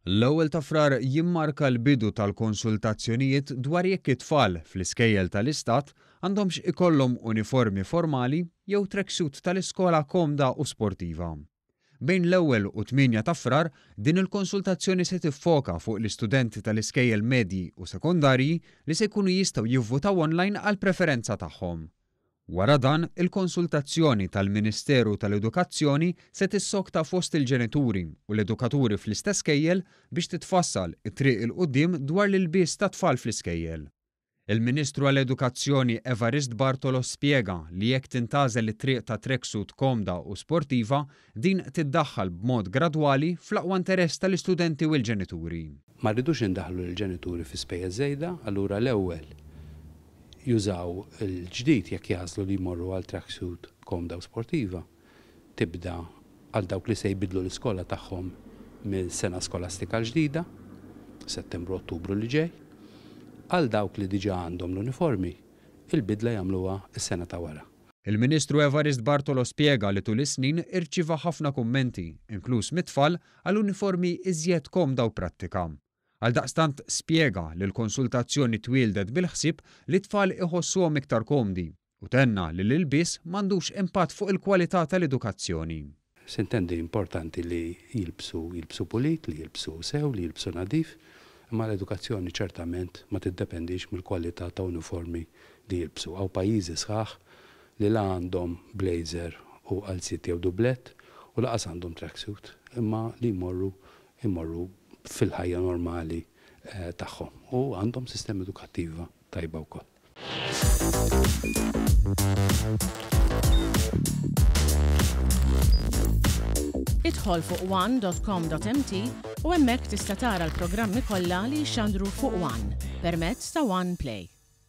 L-ewwel ta' Frar jimmarka l-bidu tal-konsultazzjonijiet dwar jekk it-tfal fl-iskejjel tal-Istat għandhomx ikollhom uniformi formali jew tracksuit tal-iskola komda u sportiva. Bejn l-ewwel u 8 ta' Frar, din il-konsultazzjoni se tiffoka fuq l-istudenti tal-iskejjel medji u sekondarji li se jkunu jistgħu jivvutaw online għall-preferenza tagħhom. Wara dan, il-konsultazzjoni tal-Ministeru tal-Edukazzjoni se tissokta fost il-ġenituri u l-edukaturi fl-istess skejjel biex titfassal it-triq 'il quddiem dwar l-ilbies tat-tfal fl-iskejjel. Il-Ministru għall-Edukazzjoni Evarist Bartolo spjega li jekk tintgħażel it-triq ta' tracksuit komda u sportiva, din tiddaħħal b'mod gradwali fl-aqwa interess tal-istudenti u l-ġenituri. Ma rridux indaħħlu lill-ġenituri fi spejjeż żejda, allura l-ewwel jużaw il-ġdid jekk jagħżlu li jmorru għal tracksuit komda u sportiva, tibda għal dawk li se jbiddlu l-iskola tagħhom mill-sena skolastika l-ġdida, Settembru-Ottubru li ġej. Għal dawk li diġà għandhom l-uniformi, il-bidla jagħmluha s-sena ta' wara. Il-Ministru Evarist Bartolo spjega li tul is-snin irċieva ħafna kummenti, inkluż mit-tfal, għal uniformi iżjed komda u prattika. Għaldaqstant spjega li l-konsultazzjoni twieldet bil-ħsieb li t-tfal iħossuhom iktar komdi u tenna li l-ilbies m'għandux impatt fuq il-kwalità tal-edukazzjoni. Sintendi importanti li jilbsu jilbsu pulit, li jilbsu sew, li jilbsu nadif, imma l-edukazzjoni ċertament ma tiddependix mill-kwalità ta' uniformi li jilbsu. Hawn pajjiżi sħaħ li la għandhom blazer u qalziet jew dublett u lanqas għandhom tracksuit, imma li jmorru jmorru fil-ħajja normali tagħhom u għandhom sistema edukattiva tajba wkoll. Idħol fuq one.com.mt u hemmhekk tista' tara l-programmi kollha li jixxandru fuq One permezz ta' One Play.